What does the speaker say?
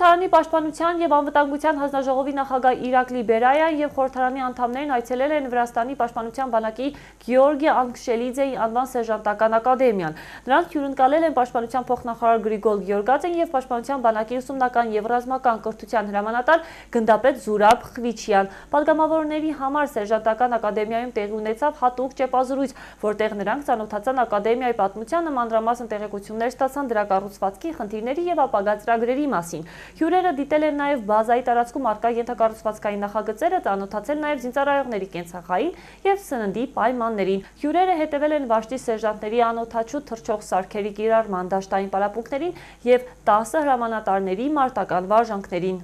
Խորհրդարանի պաշտպանության և անվտանգության հանձնաժողովի նախագահ Իրակլի Բերայան և խորհրդարանի անդամներն այցելել են Վրաստանի պաշտպանության բանակի Գեորգի Անգշելիձեի անվան սերժանտական ակադեմիան։ Նրանց հյուրընկալել են պաշտպանության փոխնախարար Գրիգոր Գյորգաձեն և պաշտպանության բանակի ուսումնական և ռազմական կրթության հրամանատար գնդապետ Զուրաբ Խվիչյան։ Պատգամավորների համար սերժանտական ակադեմիայում տեղի ունեցավ հատուկ ճեպազրույց, որտեղ նրանք ծանոթացան ակադեմիայի պատմությանը, մանրամասն տեղեկություններ ստացան դրա կառուցվածքի, խնդիրների և ապագա ծրագրերի մասին։ Հյուրերը դիտել են նաև բազայի տարածքում առկա ենթակառուցվածքային նախագծերը, ծանոթացել նաև զինծառայողների կենցաղային և սննդի պայմաններին։ Հյուրերը հետևել են վաշտի սերժանտների անօդաչու թռչող սարքերի կիրառման դաշտային պարապմունքներին և 10 հրամանատարների մարտական վարժանքներին։